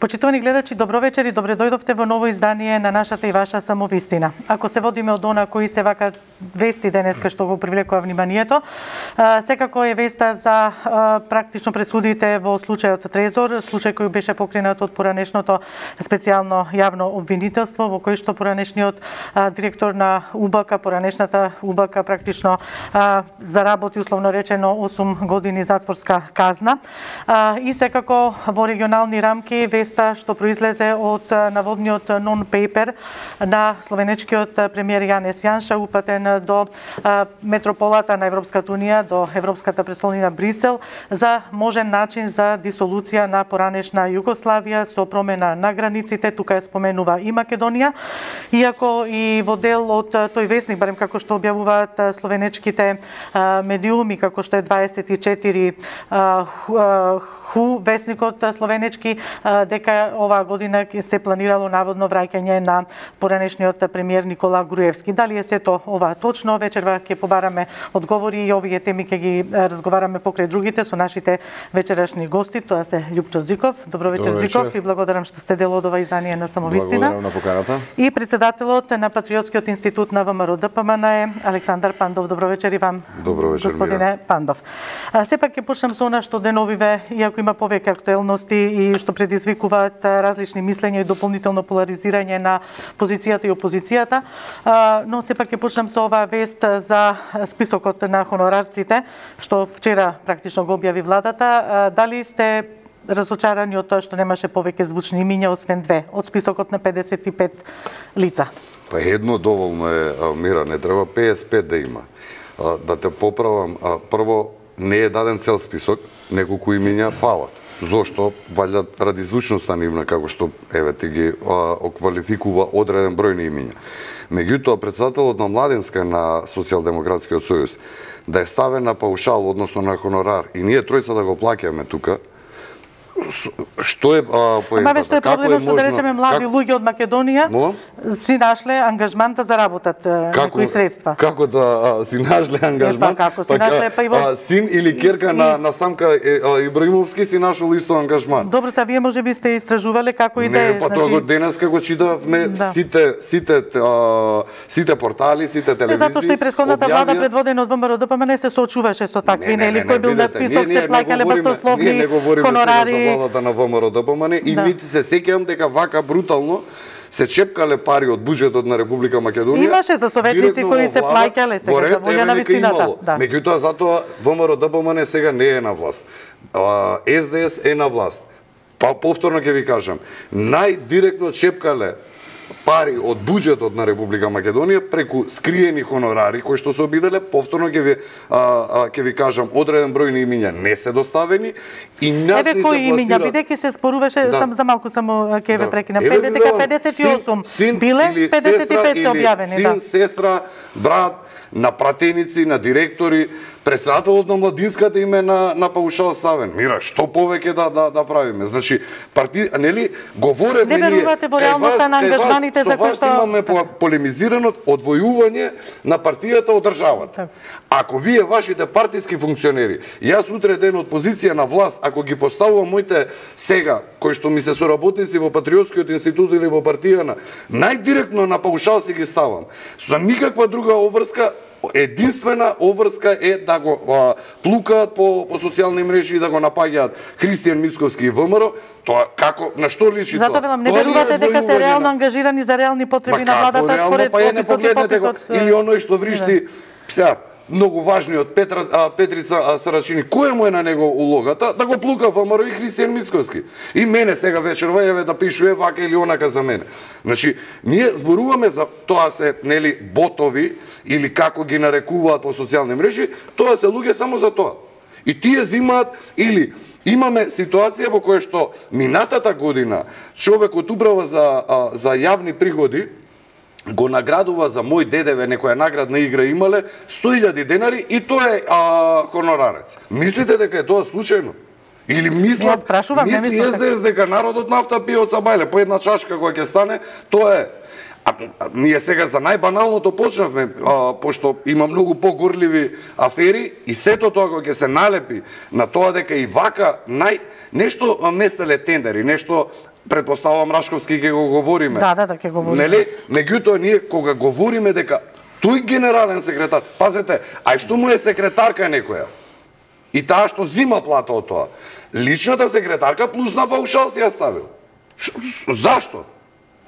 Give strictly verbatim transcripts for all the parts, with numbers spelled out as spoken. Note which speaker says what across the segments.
Speaker 1: Почитувани гледачи, добро вечер и добре дојдовте во ново издание на нашата и ваша самовистина. Ако се водиме од она кои се вака вести денеска што го привлекува вниманието, секако е веста за практично пресудите во случајот Трезор, случај кој беше покренат од поранешното специјално јавно обвинителство, во кој што поранешниот директор на УБК, поранешната УБК практично заработи условно речено осум години затворска казна. И секако во регионални рамки веста што произлезе од наводниот нон-пейпер на словенечкиот премиер Јанес Јанша, упатен до метрополата на Европската унија, до Европската престолнина Брисел, за можен начин за дисолуција на поранешна Југославија со промена на границите. Тука ја споменува и Македонија, иако и во дел од тој весник, барем како што објавуваат словенечките медиуми, како што е дваесет и четири Ху, весникот словенечки, дека оваа година се планирало наводно враќање на поранешниот премиер Никола Груевски. Дали е сето ова точно? Вечерва ќе побараме одговори и овие теми ќе ги разговараме покрај другите со нашите вечерашни гости. Тоа се Љупчо Зиков. Добро вечер, Добро вечер. Зиков, и благодарам што сте дел од ова издание на Самовистина.
Speaker 2: Благодарам на поканата.
Speaker 1: И председателот на Патриотскиот институт на ВМРО Д П М Н е Александар Пандов. Добро вечер и вам,
Speaker 2: Добро вечер,
Speaker 1: господине
Speaker 2: Мира.
Speaker 1: Пандов. А, сепак ќе почнам со она што деновиве, иако има повеќе актуелности и што предизвикуваат различни мислења и дополнително поларизирање на позицијата и опозицијата, но сепак ќе почнам со оваа вест за списокот на хонорарците, што вчера практично го објави владата. Дали сте разочарани од тоа што немаше повеќе звучни имиња освен две од списокот на педесет и пет лица?
Speaker 2: Па едно доволно е, Мира, не треба педесет и пет да има. Да те поправам, прво не е даден цел список, неколку имиња фалат. Зошто? Валјда ради звучноста нивна, како што еве ти ги оквалификува одреден број на имиња. Меѓутоа, председателот на Младенска на Социјалдемократскиот сојуз да е ставен на паушал, односно на хонорар, и ние тројца да го плаќаме тука, што е поентата?
Speaker 1: Ама ве што е проблемот што да речеме млади как... луѓе од Македонија
Speaker 2: Мола?
Speaker 1: си нашле ангажман да заработат некои средства.
Speaker 2: Како да а, си нашле ангажман?
Speaker 1: Е, па како си нашле, па и во...
Speaker 2: а, син или керка и... на, на Самка Ибраимовски си нашол исто ангажман.
Speaker 1: Добро, са вие може би сте истражувале како и да е.
Speaker 2: Не, па тоа го денеска го читавме да. сите сите а, сите портали, сите телевизии.
Speaker 1: Затоа што и претходната објавија... влада предводена од ВМРО Д П М Н се соочуваше со такви, нели, кој бил на список, се плаќале баснословни хонорари.
Speaker 2: Владата на ВМРО Д П М Н и да. Нити се сеќавам дека вака брутално се чепкале пари од буџетот на Република Македонија.
Speaker 1: Имаше за советници кои се плаќале сега за волја на вистината. Да.
Speaker 2: Меѓутоа затоа ВМРО Д П М Н сега не е на власт. С Д С е на власт. Па повторно ќе ви кажам, најдиректно чепкале пари од буџетот на Република Македонија преку скриени хонорари кои што се обиделе, повторно ќе ви а, а, ќе ви кажам, одреден број на имиња не се доставени и нас
Speaker 1: Еве
Speaker 2: ни се
Speaker 1: кои имиња,
Speaker 2: пласира...
Speaker 1: бидејќи се споруваше, да. сам за малку само ќе ве
Speaker 2: да.
Speaker 1: прекинам, дека педесет и осум син, биле, педесет и пет се објавени,
Speaker 2: син,
Speaker 1: да.
Speaker 2: сестра, брат, на пратеници, на директори, председателот на Младинската име на на паушал ставен. Мира, што повеќе да да да правиме? Значи, парти, нели, говоревме
Speaker 1: ние. Не верувате во реалноста на ангажманите за кои што
Speaker 2: имаме полемизирано одвојување на партијата од државата. Ако вие вашите партиски функционери, јас утре ден од позиција на власт, ако ги поставувам моите сега, кои што ми се соработници во Патриотскиот институт или во партијана, најдиректно на паушал си ги ставам. За никаква друга обврска, единствена обврска е да го а, плукаат по, по социјални мрежи и да го напаѓаат Христијан Мицковски и В М Р. Тоа како, на што личи тоа?
Speaker 1: Затоа велам, не верувате дека се реално ангажирани за реални потреби на владата според описот и пописот?
Speaker 2: Или оној што вришти, сега, многу важниот Петра, а, Петрица Сарачини, која му е на него улогата да го плука В М Р и Христијан Мицковски. И мене сега вечерва еве да пишува вака или онака за мене. Значи, ние зборуваме за тоа се, нели, ботови или како ги нарекуваат по социјални мрежи, тоа се луѓе само за тоа. И тие зимаат или имаме ситуација во која што минатата година човекот управа за а, за јавни приходи го наградува за мој дедеве, некоја наградна игра имале сто илјади денари и тоа е а, хонорарец. Мислите дека е тоа случајно? Или мислат, мисли С Д С дека народот нафта пие од Сабајле, по една чашка која ќе стане, тоа е. А, а, ние сега за најбаналното почнавме, а, пошто има многу погорливи афери и сето тоа кога ќе се налепи на тоа дека и вака нај нешто местеле тендери, нешто предпоставувам Рашковски ќе го говориме.
Speaker 1: Да, да, да, ќе говориме.
Speaker 2: Нели? Меѓутоа ние кога говориме дека тој генерален секретар, пазете, ај што му е секретарка некоја? И таа што зима плата од тоа. Личната секретарка плюс на паушал си ја ставил. Ш, зашто?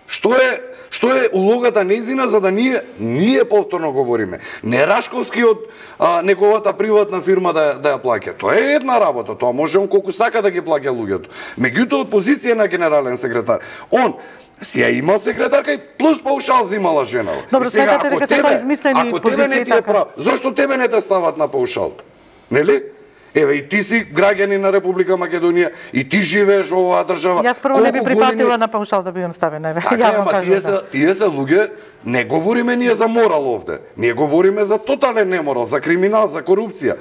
Speaker 2: Што е што е улогата нејзина за да ние ние повторно говориме? Не Рашковски од а, неговата приватна фирма да да ја плаќа. Тоа е една работа, тоа може он колку сака да ги плаќа луѓето. Меѓутоа од позиција на генерален секретар, он си ја имал секретарка и плюс паушал зимала женава.
Speaker 1: Добро, сметате дека се тоа измислени позиции така.
Speaker 2: Зошто тебе не те стават на паушал? Нели? Еве и ти си граѓанин на Република Македонија и ти живееш во оваа држава.
Speaker 1: Јас прво не би прифатила години... на паушал да бидам ставена, еве.
Speaker 2: Така, ја ама тие се тие се луѓе, не говориме ние за морал овде. Ние говориме за тотален неморал, за криминал, за корупција.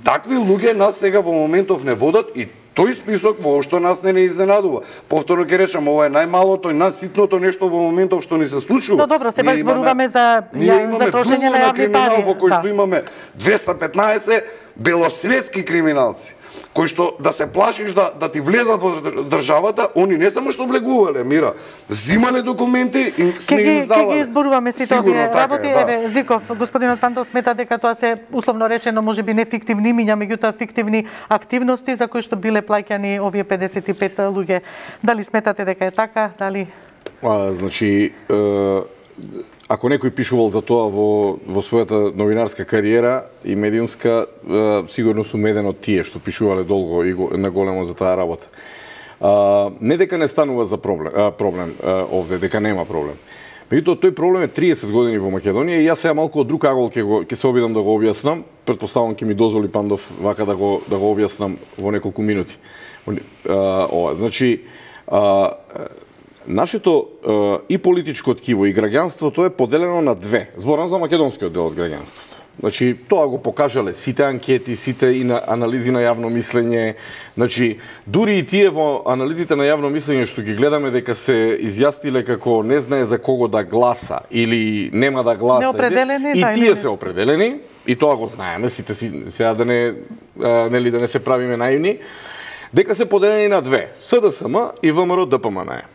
Speaker 2: Такви луѓе нас сега во моментов не водат и тој список воопшто нас не не изненадува. Повторно ќе речам, ова е најмалото и најситното нешто во моментов што ни се случува.
Speaker 1: Но добро, сега зборуваме за ја, за трошење на јавни пари.
Speaker 2: Во кој што имаме двеста петнаесет белосветски криминалци, кои што да се плашиш да да ти влезат во државата, они не само што влегувале, мира, зимале документи и сме им издавале.
Speaker 1: Ке ги зборуваме сите овие работи,
Speaker 2: да.
Speaker 1: Еве Зиков, господинот Пантов смета дека тоа се условно речено можеби не фиктивни имиња, меѓутоа фиктивни активности за кои што биле плаќани овие педесет и пет луѓе. Дали сметате дека е така? Дали
Speaker 3: А, значи е... Ако некој пишувал за тоа во, во својата новинарска кариера и медиумска, е, сигурно сум еден од тие што пишувале долго и го, на големо за таа работа. А, не дека не станува за проблем, а, проблем а, овде, дека нема проблем. Меѓутоа, тој проблем е триесет години во Македонија и јас сега малку од друг агол ќе го ќе се обидам да го објаснам. Претпоставувам ќе ми дозволи Пандов вака да го да го објаснам во неколку минути. А, ова, значи, а, нашето е, и политичко ткиво и граѓанството е поделено на две. Зборам за македонскиот дел од граѓанството. Значи, тоа го покажале сите анкети, сите и на анализи на јавно мислење. Значи, дури и тие во анализите на јавно мислење што ги гледаме дека се изјасниле како не знае за кого да гласа или нема да гласа.
Speaker 1: Неопределени,
Speaker 3: и
Speaker 1: да,
Speaker 3: тие
Speaker 1: не...
Speaker 3: се определени и тоа го знаеме, сите си сега да не а, нели да не се правиме наивни, дека се поделени на две: СДСМ и ВМРО ДПМН.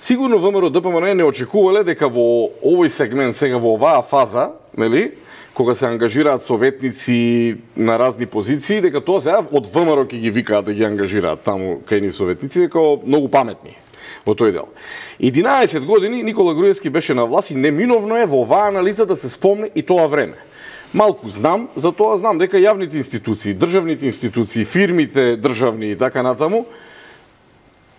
Speaker 3: Сигурно ВМРО ДПМН не очекувале дека во овој сегмент, сега во оваа фаза, нели, кога се ангажираат советници на разни позиции, дека тоа сега од ВМРО ќе ги викаат да ги ангажираат таму кај нив советници, дека многу паметни во тој дел. единаесет години Никола Груевски беше на власт и неминовно е во оваа анализа да се спомне и тоа време. Малку знам, за тоа знам дека јавните институции, државните институции, фирмите државни и така натаму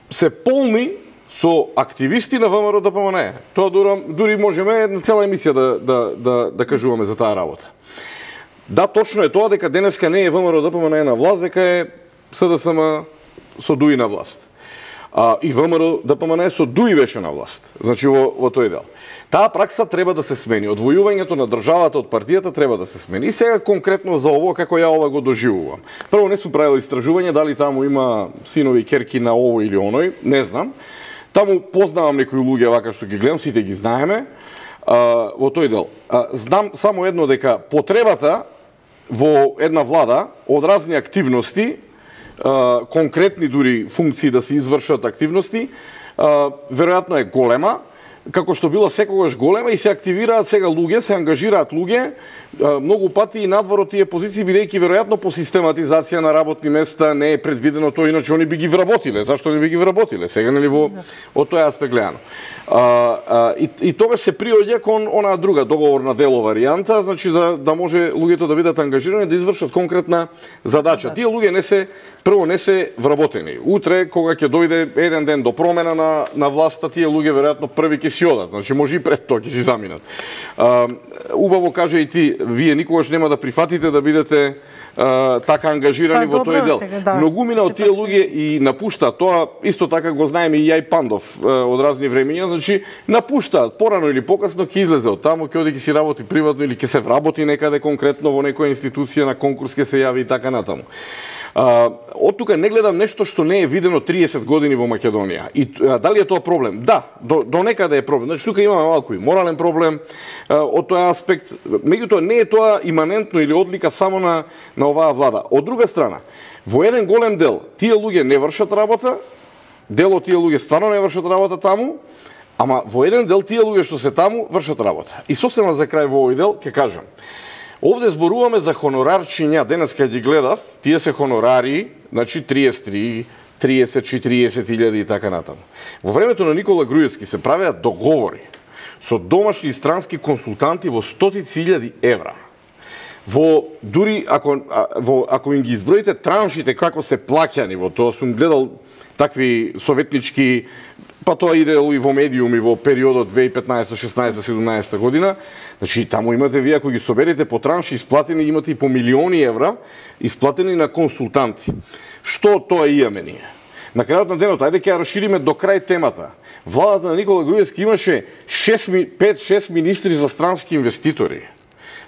Speaker 3: се полни со активисти на ВМРО ДПМН. Тоа дури, дури можеме една цела емисија да, да, да, да кажуваме за таа работа. Да, точно е тоа дека денеска не е ВМРО ДПМН на власт, дека е СДСМ со Дуи на власт. А, и ВМРО ДПМН со Дуи беше на власт. Значи во, во тој дел. Таа пракса треба да се смени. Одвојувањето на државата од партијата треба да се смени. И сега конкретно за ово, како ја ова го доживувам. Прво не сум правил истражување дали таму има синови и керки на ово или оној, не знам. Таму познавам некои луѓе вака што ги гледам, сите ги знаеме, а, во тој дел. А, знам само едно, дека потребата во една влада од разни активности, а, конкретни дури функции да се извршат активности, а, веројатно е голема, како што било секогаш голема и се активираат сега луѓе, се ангажираат луѓе, многу пати и надвор од тие позиции, бидејќи веројатно по систематизација на работни места не е предвидено тоа, иначе они би ги вработиле. Зашто не би ги вработиле? Сега нели во од тој аспект гледано. А, а, и, и тогаш се приоѓа кон онаа друга договорна дело варијанта, значи за да може луѓето да бидат ангажирани да извршат конкретна задача. Тие луѓе не се прво не се вработени. Утре кога ќе дојде еден ден до промена на на власта, тие луѓе веројатно први ќе си одат, значи може и пред тоа ќе си заминат. А, убаво кажа и ти, вие никогаш нема да прифатите да бидете Uh, така ангажирани па, во тој дел. Сега, да. Многумина од тие луѓе и напуштаат, тоа исто така го знаеме и ја и Пандов uh, од разни времења, значи напуштаат, порано или покасно ќе излезе од таму, ќе оди ќе си работи приватно или ќе се вработи некаде конкретно во некоја институција, на конкурс ќе се јави и така натаму. Uh, од тука не гледам нешто што не е видено триесет години во Македонија. И uh, дали е тоа проблем? Да, до, до некаде е проблем. Значи тука имаме малку и морален проблем uh, од тој аспект. Меѓутоа не е тоа иманентно или одлика само на на оваа влада. Од друга страна, во еден голем дел тие луѓе не вршат работа, дел од тие луѓе стварно не вршат работа таму, ама во еден дел тие луѓе што се таму вршат работа. И сосема за крај во овој дел ќе кажам. Овде зборуваме за хонорарчиња, денеска ги гледав, тие се хонорари, значи триесет и три, триесет, четириесет илјади и така натаму. Во времето на Никола Груевски се правеа договори со домашни и странски консултанти во стотици илјади евра. Во дури ако во ако им ги изброите траншите како се плаќани, во тоа сум гледал такви советнички, па тоа идело и во медиуми во периодот две илјади и петнаесета, шеснаесета, седумнаесета година. Значи таму имате вие ако ги соберете по транши исплатени, имате и по милиони евра исплатени на консултанти. Што тоа имаме ние? На крајот на денот, ајде ќе ја расшириме до крај темата. Владата на Никола Груевски имаше пет шест министри за странски инвеститори.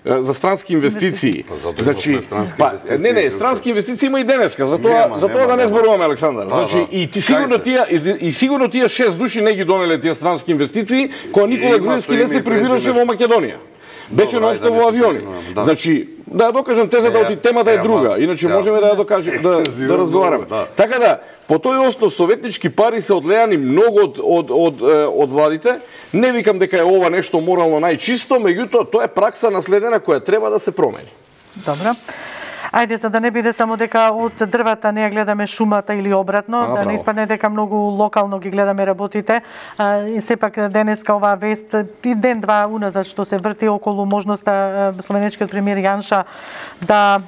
Speaker 3: За странски инвестиции.
Speaker 2: Значи,
Speaker 3: па, не, не, странски инвестиции има и денеска, затоа затоа да не зборуваме, Александар. Значи и ти сигурно тие и сигурно тие шест души не ги донеле тие странски инвестиции, кога Никола Груевски не се прибираше во Македонија. Беше носта во авиони. Значи, да ја докажам тезата, оти темата е друга, иначе можеме да ја докажеме, да, да разговараме. Така да, по тој основ советнички пари се одлеани многу од од од од владите. Не викам дека е ова нешто морално најчисто, меѓутоа тоа е пракса наследена која треба да се промени.
Speaker 1: Добро. Ајде, за да не биде само дека од дрвата не ја гледаме шумата или обратно, а, да право. Не испадне дека многу локално ги гледаме работите. А, и сепак денеска оваа вест и ден-два уназад што се врти околу можноста словенечкиот премиер Јанша да,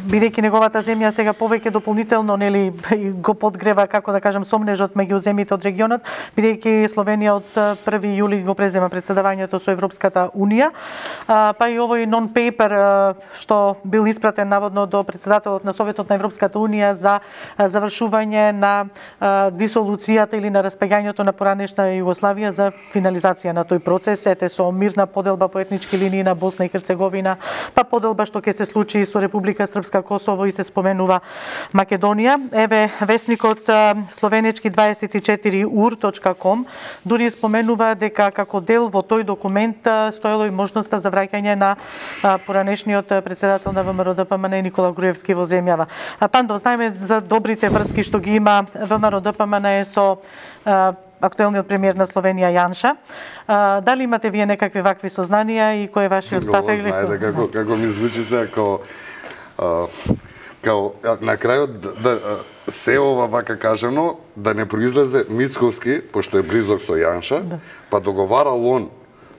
Speaker 1: бидејќи неговата земја сега повеќе дополнително нели го подгрева, како да кажам, сомнежот меѓу земјите од регионот, бидејќи Словенија од први јули го презема претседавањето со Европската унија, а, па и овој нон-пейпер што бил испратен наводно до претседателот на Советот на Европската унија за завршување на а, дисолуцијата или на распаѓањето на поранешна Југославија за финализација на тој процес, ете со мирна поделба по етнички линии на Босна и Херцеговина, па поделба што ќе се случи со Република Српска Косово и се споменува Македонија. Еве весникот словенечки дваесет и четири ур точка ком дури споменува дека како дел во тој документ стоело и можноста за враќање на поранешниот претседател на ВМРО Д П М Н Никола Груевски во земјава. Пандо, знаеме за добрите врски што ги има ВМРО Д П М Н со актуелниот премиер на Словенија Јанша. А, дали имате вие некакви вакви сознанија и кој е вашиот став?
Speaker 2: Знаете како како ми звучи се како као на крајот да се ова вака кажано да не произлезе Мицковски, пошто е близок со Јанша, да. Па договарал он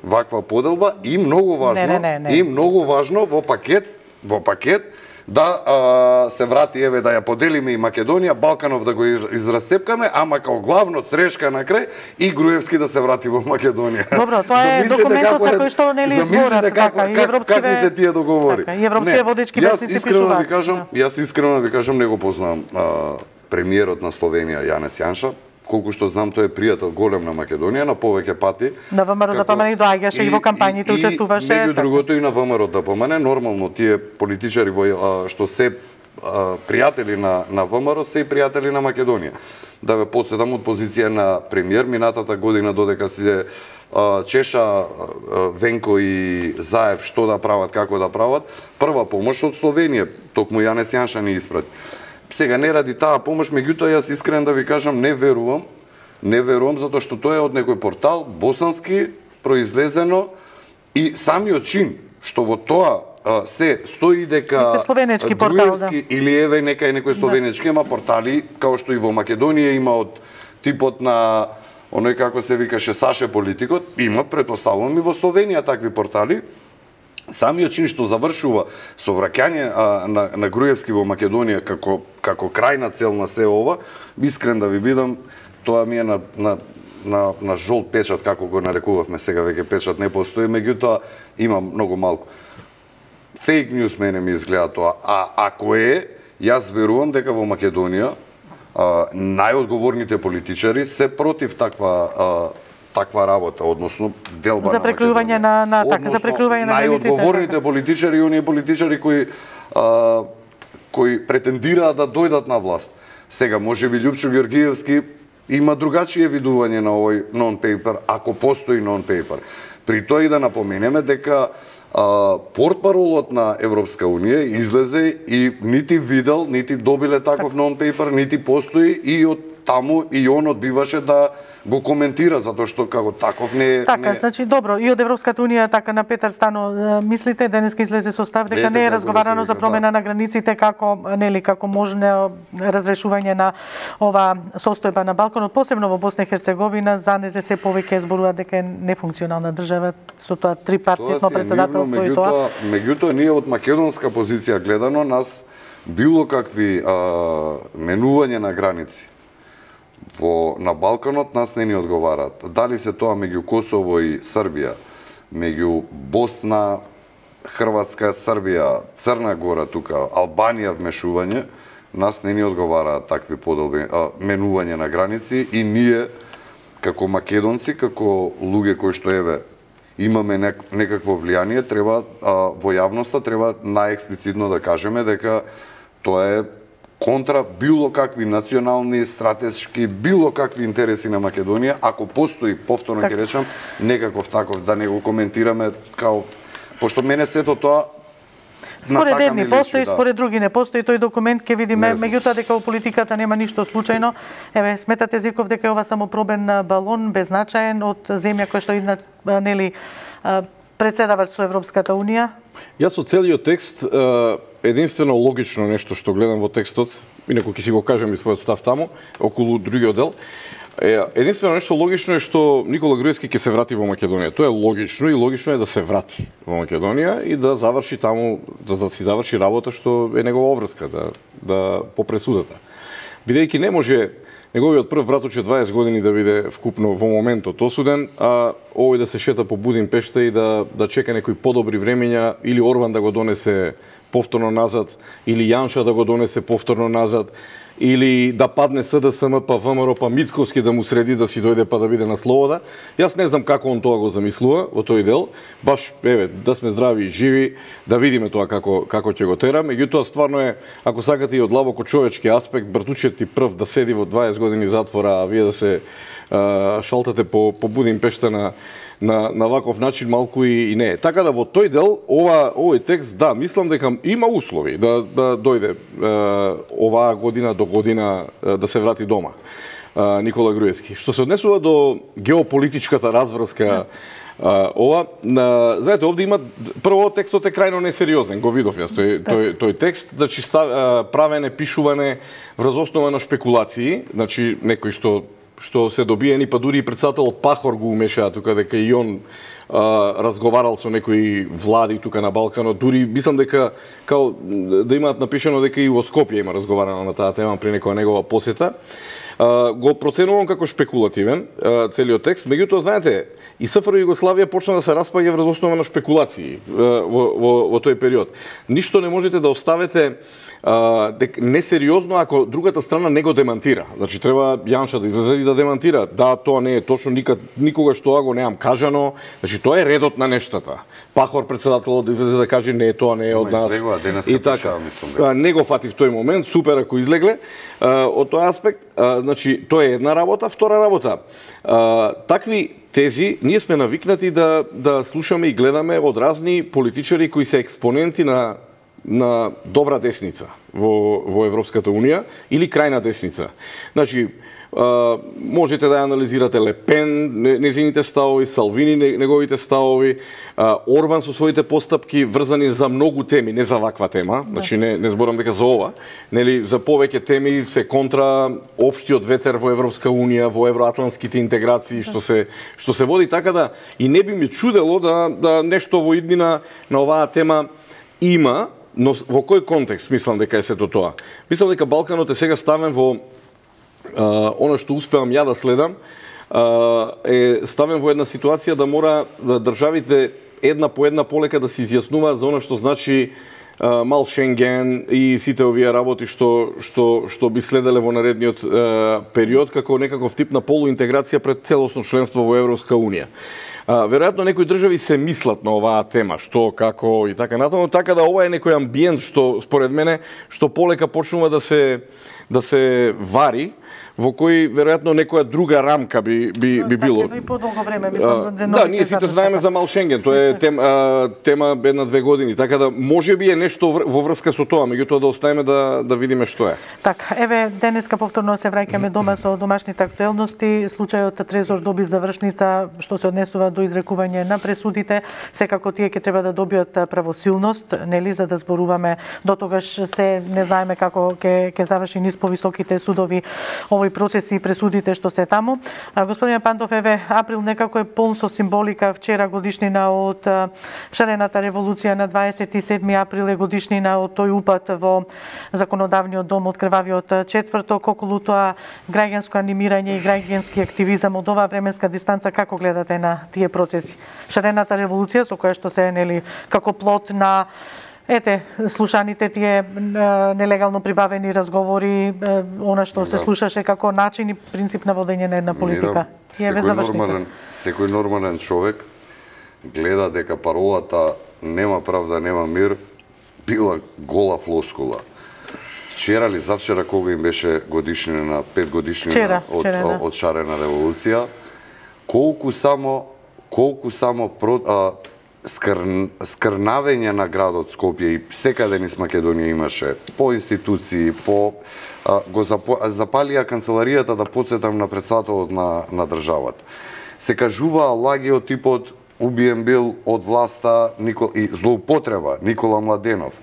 Speaker 2: ваква поделба и многу важно, не, не, не, не. и многу важно во пакет, во пакет да а, се врати, еве, да ја поделиме и Македонија, Балканов да го израсцепкаме, ама као главно црешка на крај и Груевски да се врати во Македонија.
Speaker 1: Добро, тоа е документот за кој што нели зборат, така, и европскиве...
Speaker 2: Какви се тие договори?
Speaker 1: Така, и европските водечки вестници пишуваат.
Speaker 2: Ви кажам, јас искрено ви кажам, не го познавам а, премиерот на Словенија, Јанес Јанша, колку што знам, тој е пријател голем на Македонија, на повеќе пати.
Speaker 1: На ВМРО Д П М Н и доаѓаше и, и во кампањите учествуваше.
Speaker 2: И меѓу другото и на ВМРО Д П М Н, нормално тие политичари во, а, што се а, пријатели на на ВМРО се и пријатели на Македонија. Да ве подсетам од позиција на премиер минатата година додека се а, чеша а, Венко и Заев што да прават, како да прават, прва помош од Словенија, токму Јанес Јанша ни испрати. Сега не ради таа помош, меѓутоа јас искрено да ви кажам не верувам, не верувам затоа што тоа е од некој портал босански произлезено и самиот чин што во тоа а, се стои дека
Speaker 1: словенечки портал, да.
Speaker 2: Или еве нека е некој словенечки, ема портали као што и во Македонија има од типот на оној како се викаше Саше политикот, има претпоставувам и во Словенија такви портали. Самиот чин што завршува со враќање а, на, на Груевски во Македонија како, како крајна цел на се ова, искрен да ви бидам, тоа ми е на, на, на, на жолт печат, како го нарекувавме сега, веќе печат не постои, меѓутоа има многу малку. Фейк ньюс мене ми изгледа тоа, а ако е, јас верувам дека во Македонија а, најодговорните политичари се против таква а, таква работа, односно делба
Speaker 1: за прекрување на, на така, за прекрување на границите.
Speaker 2: Најодговорните политичари и оние политичари кои а, кои претендираат да дојдат на власт. Сега можеби Љупчо Ѓоргиевски има другачие видување на овој нон-пейпер, ако постои нон-пейпер. При тоа и да напоменеме дека а, портпаролот на Европска унија излезе и нити видел, нити добиле таков нон-пейпер, нити постои и од таму и он одбиваше да го коментира затоа што како таков не
Speaker 1: Така,
Speaker 2: не...
Speaker 1: значи добро, и од Европската унија така на Петар Стано мислите денеска излезе со став дека не е разговарано за промена на границите како нели како можно разрешување на ова состојба на Балканот, посебно во Босна и Херцеговина, за не се повеќе зборува дека е нефункционална држава со тоа трипартитно председателство и тоа.
Speaker 2: Меѓутоа ние од македонска позиција гледано нас било какви а, менување на граници во на Балканот нас не ни одговараат. Дали се тоа меѓу Косово и Србија, меѓу Босна, Хрватска, Србија, Црна Гора тука, Албанија вмешување, нас не ни одговараат такви подолби а, менување на граници и ние како македонци, како луѓе кои што еве имаме нек, некакво влијание, треба а, во јавноста треба најексплицитно да кажеме дека тоа е контра било какви национални, стратешки, било какви интереси на Македонија, ако постои, повторно ќе речам, некаков таков, да не го коментираме као, пошто мене сето тоа
Speaker 1: според едни постои, да. Според други не постои, тој документ ќе видиме, меѓутоа дека во политиката нема ништо случајно. Еве, сметате Зиков дека е ова само пробен балон, беззначаен од земја која што идна, нели, председавач со Европската унија?
Speaker 3: Јас со целиот текст единствено логично нешто што гледам во текстот, инаку ќе си го кажем и својот став таму, околу другиот дел, единствено нешто логично е што Никола Груевски ќе се врати во Македонија. Тоа е логично и логично е да се врати во Македонија и да заврши таму, да, да си заврши работа што е негова обврска, да, да по пресудата. Бидејќи не може неговиот прв брат уче дваесет години да биде вкупно во моментот осуден, а овој да се шета по Будимпешта и да, да чека некои подобри времења, или Орбан да го донесе повторно назад, или Јанша да го донесе повторно назад, или да падне СДСМ, па ВМРО, па Мицковски да му среди да си дојде па да биде на слобода. Јас не знам како он тоа го замислува во тој дел. Баш, еве, да сме здрави и живи, да видиме тоа како како ќе го тера. Меѓутоа стварно е, ако сакате и од длабоко човечки аспект, братучет ти прв да седи во дваесет години затвора, а вие да се а, шалтате по по Будимпешта на на на ваков начин малку и, и не. Така да во тој дел ова овој текст, да, мислам дека има услови да да дојде е, оваа година до година е, да се врати дома е, Никола Груевски. Што се однесува до геополитичката разврска, е, ова, на, знаете, овде има прво текстот е крајно несериозен, го видов јас тој тој тој текст, значи став, правене, пишуване врз основа на шпекулации, значи некој што што се добиени, па дури и председателот Пахор го умешаа тука дека и он а, разговарал со некои влади тука на Балканот, дури мислам дека као да имаат напишано дека и во Скопје има разговарано на таа тема при некоја негова посета. А, го проценувам како шпекулативен а, целиот текст, меѓутоа знаете, и СФР Југославија почна да се распаѓа врз основа на шпекулации а, во, во, во тој период. Ништо не можете да оставите Uh, дек, несериозно ако другата страна не го демантира. Значи треба Јанша да излезе и да демантира. Да, тоа не е точно, никад, никогаш тоа го неам кажано. Значи тоа е редот на нештата. Пахор председателот да излезе да каже не, тоа не е од нас.
Speaker 2: И така,
Speaker 3: да. Не го фати в тој момент, супер ако излегле. Uh, од тој аспект, uh, значи тоа е една работа, втора работа. Uh, такви тези ние сме навикнати да да слушаме и гледаме од разни политичари кои се експоненти на на добра десница во во Европската унија или крајна десница. Значи, а, можете да анализирате Ле Пен, незините ставови, Салвини, неговите ставови, а, Орбан со своите постапки врзани за многу теми, не за ваква тема, значи не не зборам дека за ова, нели за повеќе теми се контра општиот ветер во Европска унија, во евроатлантските интеграции што се што се води, така да и не би ме чудело да да нешто во иднина на оваа тема има. Но во кој контекст мислам дека е сето тоа? Мислам дека Балканот е сега ставен во а, оно што успеам ја да следам, а, е ставен во една ситуација да мора да државите една по една полека да се изјаснуваат за оно што значи а, мал Шенген и сите овие работи што што што би следеле во наредниот а, период како некаков тип на полуинтеграција пред целосно членство во Европска унија. А, веројатно некои држави се мислат на оваа тема, што, како и така натаму, така да ова е некој амбиент што според мене што полека почнува да се да се вари во кој веројатно некоја друга рамка би би би било.
Speaker 1: И подолго време, мислам,
Speaker 3: да, ние сите знаеме за Мал Шенген, тоа е тема тема една-две години, така да можеби е нешто во врска со тоа, меѓутоа да оставиме да да видиме што е.
Speaker 1: Така, еве денеска повторно се враќаме дома со домашните актуелности. Случајот Трезор доби завршница што се однесува до изрекување на пресудите. Секако тие ќе треба да добијат правосилност, нели, за да зборуваме дотогаш се не знаеме како ќе ќе заврши низ повисоките судови овој процеси и пресудите што се таму. А, господине Пандов, еве април некако е полн со символика. Вчера годишнина од шарената револуција, на дваесет и седми април е годишнина од тој упат во законодавниот дом од крвавиот четврток. Околу тоа граѓанско анимирање и граѓански активизам од оваа временска дистанца, како гледате на тие процеси? Шарената револуција со која што се нели како плод на ете, слушаните тие нелегално прибавени разговори, она што се слушаше како начин и принцип на водење на една политика.
Speaker 2: Секој нормален, секој нормален човек гледа дека паролата нема правда, нема мир била гола флоскула. Вчера или завчера, кога им беше годишнина на пет годишнина
Speaker 1: Вчера,
Speaker 2: од,
Speaker 1: вчера, да.
Speaker 2: од шарена револуција, колку само колку само про, а, скр, скрнавење на градот Скопје и секаде низ Македонија имаше по институции, по а, го запо, запалија канцеларијата, да подсетам, на председателот на на државата. Се кажуваа лаги од типот убиен бил од власта Никол, и злоупотреба Никола Младенов,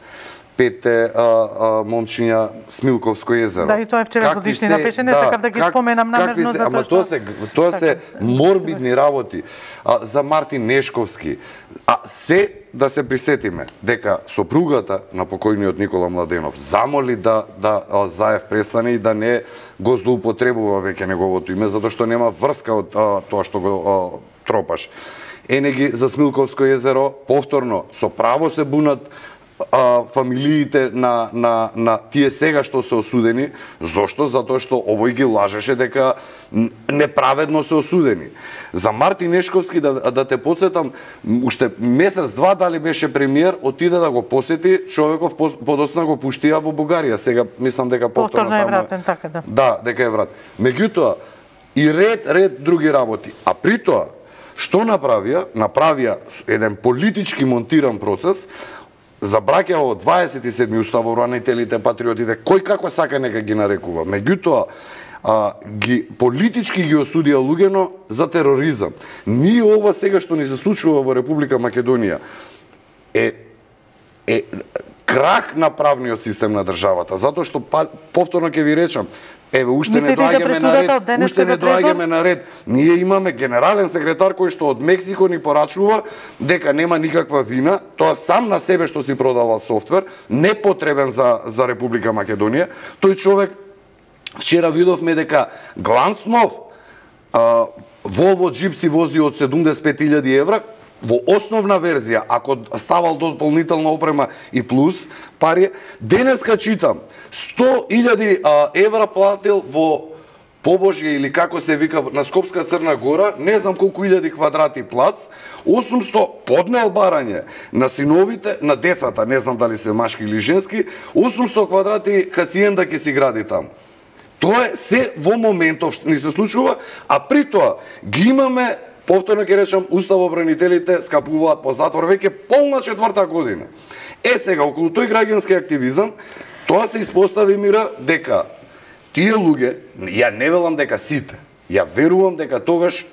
Speaker 2: пете а, а, момчиња Смилковско езеро.
Speaker 1: Да, и тоа е вчера годишнина беше, не сакав да ги
Speaker 2: как,
Speaker 1: споменам намерно,
Speaker 2: се,
Speaker 1: затоа
Speaker 2: ама
Speaker 1: што...
Speaker 2: тоа се, тоа се морбидни работи. А, за Мартин Нешковски. А се да се присетиме дека сопругата на покојниот Никола Младенов замоли да да а, Заев престане и да не го злоупотребува веќе неговото име, затоа што нема врска од а, тоа што го а, тропаш. Енеги за Смилковско езеро повторно со право се бунат а, фамилиите на, на, на тие сега што се осудени. Зошто? Затоа што овој ги лажеше дека неправедно се осудени. За Мартин Нешковски, да, да те подсетам, уште месец-два дали беше премиер, отиде да го посети, човеков подоцна го пуштија во Бугарија. Сега мислам дека повторно,
Speaker 1: повторно е вратен, така да.
Speaker 2: Да, дека е врат. Меѓутоа, и ред, ред други работи. А при тоа, што направија? Направија еден политички монтиран процес, забраќа во дваесет и седми уставобранителите, патриотите, кој како сака нека ги нарекува. Меѓутоа, а, ги политички ги осудија луѓено за тероризам. Ние ова сега што ни се случува во Република Македонија е е крах на правниот систем на државата, затоа што па, повторно ќе ви речам, еве уште не доаѓаме на ред, уште не доаѓаме на ред. Ние имаме генерален секретар кој што од Мексико ни порачува дека нема никаква вина, тоа сам на себе што си продава софтвер, непотребен за за Република Македонија. Тој човек, вчера видовме дека Гланснов а, Volvo джип си вози од седумдесет и пет илјади евра, во основна верзија, ако ставал дополнителна опрема и плюс пари, денеска читам сто илјади евра платил во Побожје или како се вика на Скопска Црна Гора, не знам колку илјади квадрати плац, осумсто поднел барање на синовите, на децата, не знам дали се машки или женски, осумсто квадрати хациенда ќе си гради таму. Тоа е се во моментов ни се случува, а при тоа ги имаме, повторно ќе речам, уставобранителите скапуваат по затвор веќе полна четврта година. Е сега, околу тој граѓански активизам, тоа се испостави, Мира, дека тие луѓе, ја не велам дека сите, ја верувам дека тогаш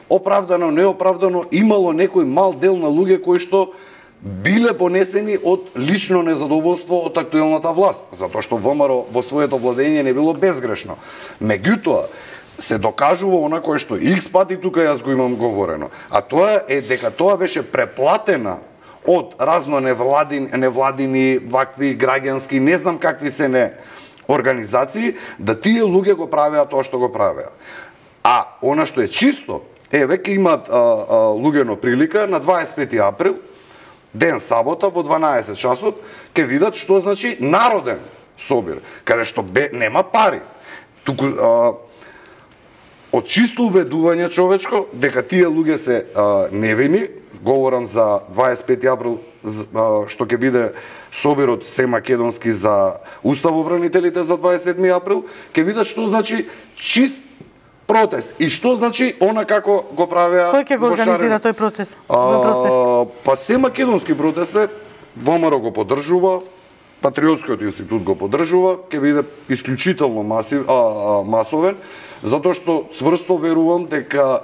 Speaker 2: оправдано, неоправдано, имало некој мал дел на луѓе кои што биле понесени од лично незадоволство од актуелната власт, затоа што ВМРО во своето владење не било безгрешно. Меѓутоа, се докажува она кое што икс пати тука јас го имам говорено, а тоа е дека тоа беше преплатена од разно невладини, невладини вакви граѓански, не знам какви се не организации, да тие луѓе го правеа тоа што го правеа. А она што е чисто, е веќе имаат а, а, луѓено прилика на дваесет и пети април, ден сабота во дванаесет часот, ќе видат што значи народен собир, каде што бе, нема пари. Туку а, од чисто убедување човечко дека тие луѓе се а, невини, говорам за дваесет и пети април, а, што ќе биде собирот се македонски за уставобранителите за дваесет и седми април, ќе видат што значи чист протест и што значи она како го правеа.
Speaker 1: Кој ќе го организира тој процес?
Speaker 2: А, па се македонски протест е, ВМРО го поддржува, Патриотскиот институт го поддржува, ќе биде исклучително масив, а, а, масовен, затоа што цврсто верувам дека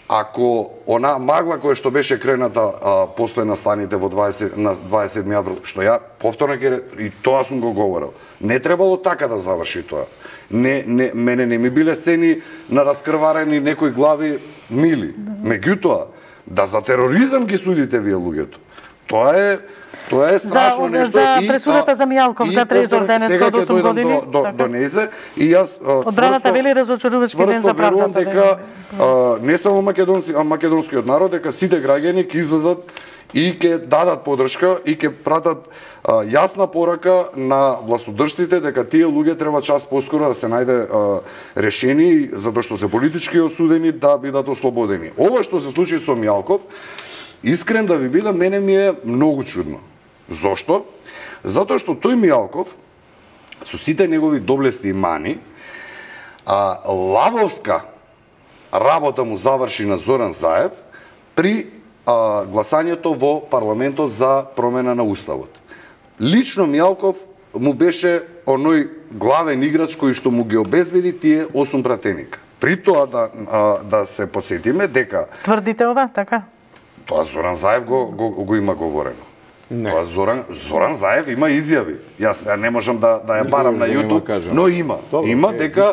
Speaker 2: ако она магла која што беше крената а, после настаните во дваесет на дваесет и седми април, што ја повторно ќе и тоа сум го говорел, не требало така да заврши тоа. Не, не, мене не ми биле сцени на раскрварени некои глави мили. Меѓутоа, да за тероризам ги судите вие луѓето. Тоа е Тоа е страшно
Speaker 1: за,
Speaker 2: нешто.
Speaker 1: За
Speaker 2: и,
Speaker 1: пресудата за Мијалков за Трезор денеска од осум години.
Speaker 2: До, до, донесе и јас
Speaker 1: одбраната вели разочарувачки ден за правдата.
Speaker 2: Дека а, не само македонци, а македонскиот народ, дека сите граѓани ќе излезат и ќе дадат поддршка и ќе пратат а, јасна порака на властодржците дека тие луѓе треба час поскоро да се најде а, решение, затоа што се политички осудени да бидат ослободени. Ова што се случи со Мијалков, искрен да ви бидам, мене ми е многу чудно. Зошто? Затоа што тој Мијалков, со сите негови доблести и мани, а, лавовска работа му заврши на Зоран Заев при а, гласањето во парламентот за промена на уставот. Лично Мијалков му беше оној главен играч кој што му ги обезбеди тие осум пратеника. При тоа да, а, да се подсетиме дека...
Speaker 1: Тврдите ова, така?
Speaker 2: Тоа Зоран Заев го, го, го има говорено. Не. Тоа Зоран, Зоран Заев има изјави. Јас не можам да, да ја барам на YouTube, но има.
Speaker 3: Добре,
Speaker 2: има
Speaker 3: е,
Speaker 2: дека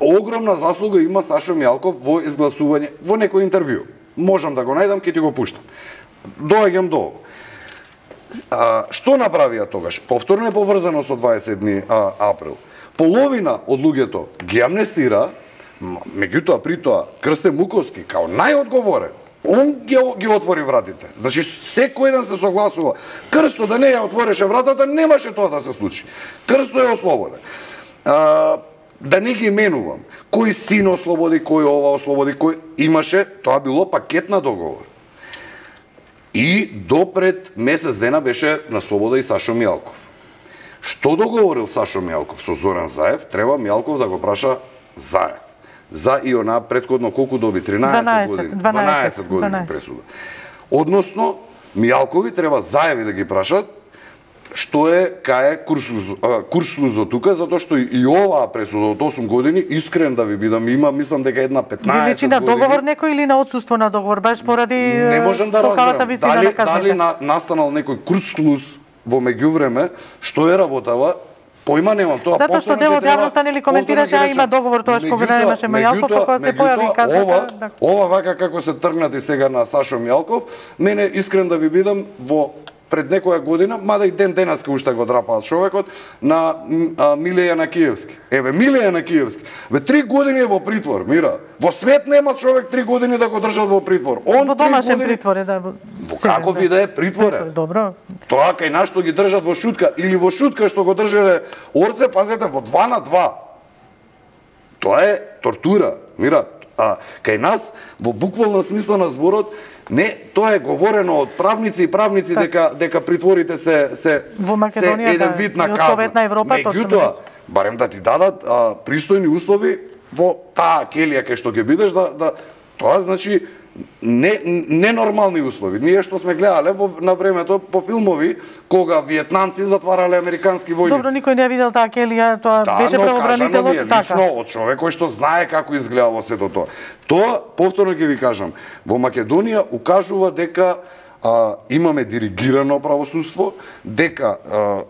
Speaker 2: огромна заслуга има Сашо Мијалков во изгласување, во некој интервју. Можам да го најдам, ќе ти го пуштам. Доаѓам до ово. А, што направија тогаш? Повторно е поврзано со дваесет и седми април. Половина од луѓето ги амнестира, меѓутоа при тоа Крстен Муковски као најодговорен, он ги, ги отвори вратите. Значи, секој еден се согласува. Крсто да не ја отвореше вратата, немаше тоа да се случи. Крсто е ослободен. А, да не ги менувам. Кој син ослободи, кој ова ослободи, кој имаше, тоа било пакет на договор. И допред месец дена беше на слобода и Сашо Мијалков. Што договорил Сашо Мијалков со Зоран Заев, треба Мијалков да го праша Заев. За и она претходно колку доби? тринаесет години. дванаесет години пресуда. Односно, Мијалкови треба Заеви да ги прашат што е, кај е курслузо тука, затоа што и оваа пресуда од осум години, искрен да ви бидам, има, мислам дека една петнаесет
Speaker 1: години. Ви личи на договор
Speaker 2: некој
Speaker 1: или на отсуство на договор, баш поради
Speaker 2: не можам да разберам. Дали,
Speaker 1: на
Speaker 2: дали на, настанал некој курслуз во меѓувреме, што е работава, појма немам тоа.
Speaker 1: Затоа што дел од јавноста нели коментираше, а има договор тоа што го немаше Мијалков, кога се појави каза.
Speaker 2: Ова, ова вака како се тргнати сега на Сашо Мијалков, мене искрен да ви бидам во пред некоја година, мада и ден денеска уште го драпаат човекот, на а, Миле Јанакиевски. Еве, Миле Јанакиевски. Ве три години е во притвор, мира. Во свет нема човек три години да го држат во притвор. Он
Speaker 1: во домашен
Speaker 2: години...
Speaker 1: притвор е, да.
Speaker 2: Во како ви да е притвор е.
Speaker 1: Добро.
Speaker 2: Тоа кај нас што ги држат во шутка, или во шутка што го држеле Орце, пазете, во два на два. Тоа е тортура, мира. А кај нас, во буквална смисла на зборот, не, тоа е говорено од правници и правници так. дека дека притворите се се
Speaker 1: во Македонија,
Speaker 2: се еден
Speaker 1: да,
Speaker 2: вид на
Speaker 1: и од
Speaker 2: казна.
Speaker 1: Советна Европа,
Speaker 2: меѓутоа, барем да ти дадат а, пристојни услови во таа келија кај што ќе бидеш да да тоа значи не ненормални услови. Ние што сме гледале во на времето по филмови кога виетнамци затварале американски војници.
Speaker 1: Добро, никој не ја видел таа келија, тоа
Speaker 2: да,
Speaker 1: беше правобранителот
Speaker 2: така.
Speaker 1: Лично
Speaker 2: од човек кој што знае како изгледало сето тоа. Тоа повторно ќе ви кажам, во Македонија укажува дека а, имаме диригирано правосудство, дека а,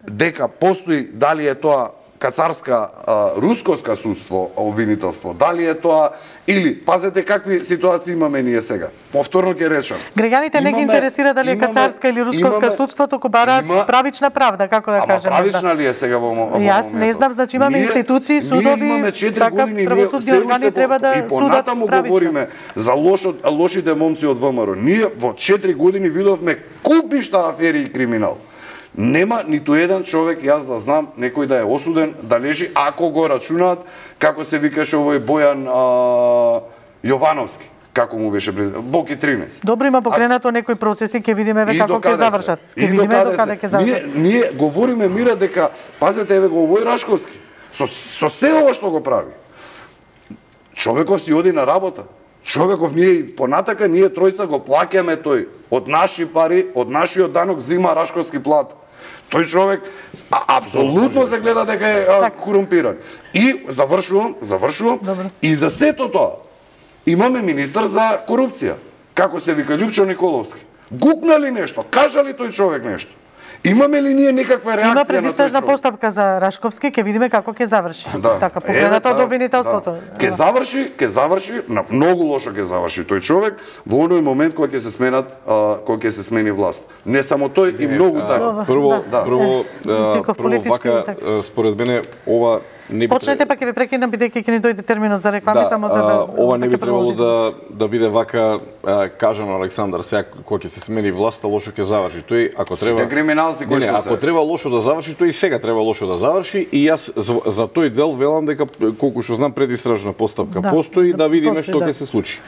Speaker 2: дека постои дали е тоа кацарска, а, рускоска судство, обвинителство, дали е тоа, или, пазете какви ситуации имаме ние сега. Повторно ќе речам.
Speaker 1: Граѓаните не ги интересира дали е кацарска или рускоска имаме, судство, току бараат има, правична правда, како да кажеме.
Speaker 2: Ама правична да. ли е сега во моментот?
Speaker 1: Јас не знам, значи имаме ние, институции, судови,
Speaker 2: имаме четири
Speaker 1: така
Speaker 2: години,
Speaker 1: правосудни органи треба да
Speaker 2: и понатаму говориме за лошо, лошите момци од ВМРО. Ние во четири години видовме купишта афери и криминал. Нема ниту еден човек, јас да знам, некој да е осуден, да лежи, ако го рачунаат, како се викаше овој Бојан а, Јовановски. како му беше президент, Боки тринесет.
Speaker 1: Добро, има покренато некои процеси, ќе видиме еве како ќе завршат. Ќе видиме докаде ќе завршат.
Speaker 2: Ние ние говориме мира дека пазете еве го овој Рашковски. Со со се ова што го прави. Човеков си оди на работа. Човеков ние понатака ние тројца го плаќаме тој од наши пари, од нашиот данок зима Рашковски плат. Тој човек а, апсолутно се гледа дека е а, корумпиран. И завршувам, завршувам.
Speaker 1: Добре.
Speaker 2: И за сето тоа имаме министар за корупција. Како се вика Љупчо Николовски. Гукна ли нешто? Кажа ли тој човек нешто? Имаме ли ние некаква реакција на тој човек?
Speaker 1: Има предистражна постапка за Рашковски, ќе видиме како ќе заврши.
Speaker 2: Да.
Speaker 1: Така покрената од обвинителството.
Speaker 2: Да. Ќе заврши, ќе заврши, на многу лошо ќе заврши тој човек во оној момент кога ќе се сменат, а, кога ќе се смени власт. Не само тој и многу така.
Speaker 3: Прво,
Speaker 2: да.
Speaker 3: прво, а, прво вака според мене ова не би
Speaker 1: Почнете, па ќе ви прекинам бидејќи ќе ни дојде терминот за реклами,
Speaker 3: да,
Speaker 1: само за да
Speaker 3: ова не би требало да да биде вака а, кажано Александар, сега кога ќе се смени власта лошо ќе заврши. Тој ако треба
Speaker 2: Сите криминалци кои
Speaker 3: не, не,
Speaker 2: што
Speaker 3: ако
Speaker 2: се.
Speaker 3: треба лошо да заврши, тој и сега треба лошо да заврши и јас за, за тој дел велам дека колку што знам предистражна постапка
Speaker 1: Да,
Speaker 3: постои
Speaker 1: да,
Speaker 3: да видиме
Speaker 1: постои,
Speaker 3: што
Speaker 1: да.
Speaker 3: ќе се случи.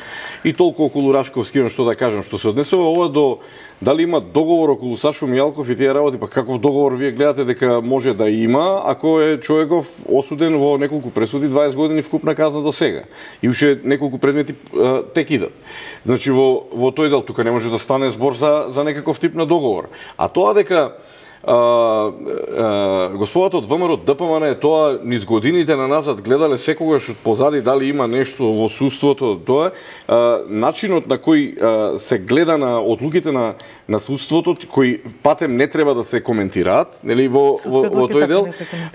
Speaker 3: И толку околу Рашковски, имам што да кажам, што се однесува ова до дали има договор околу Сашо Мијалков и тие работи, па каков договор вие гледате дека може да има, ако е човеков осуден во неколку пресуди, дваесет години вкупна казна до сега. И уште неколку предмети а, тек идат. Значи во во тој дел тука не може да стане збор за за некаков тип на договор. А тоа дека А, а, господата од ВМРО ДПМН е тоа низ годините на назад гледале секогаш од позади дали има нешто во судството, тоа а, начинот на кој а, се гледа на одлуките на на судството кои патем не треба да се коментираат, нели во во, во тој дел.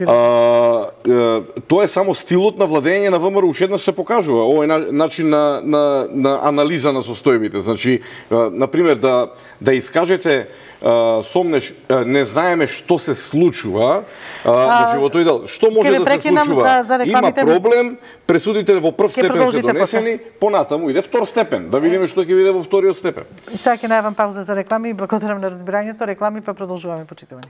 Speaker 3: А, а, тоа е само стилот на владење на ВМРО, уште еднаш се покажува овој на, начин на, на на анализа на состојбите. Значи, а, на пример да да искажете Uh, сомнеш, uh, не знаеме што се случува, uh, значи во тој дел, што може да се случува?
Speaker 1: За, за
Speaker 3: Има проблем, пресудите во прв степен се донесени, понатаму иде втор степен, да видиме што ќе биде во вториот степен.
Speaker 1: Сега ќе најавам пауза за реклами и благодарам на разбирањето, реклами па продолжуваме почитување.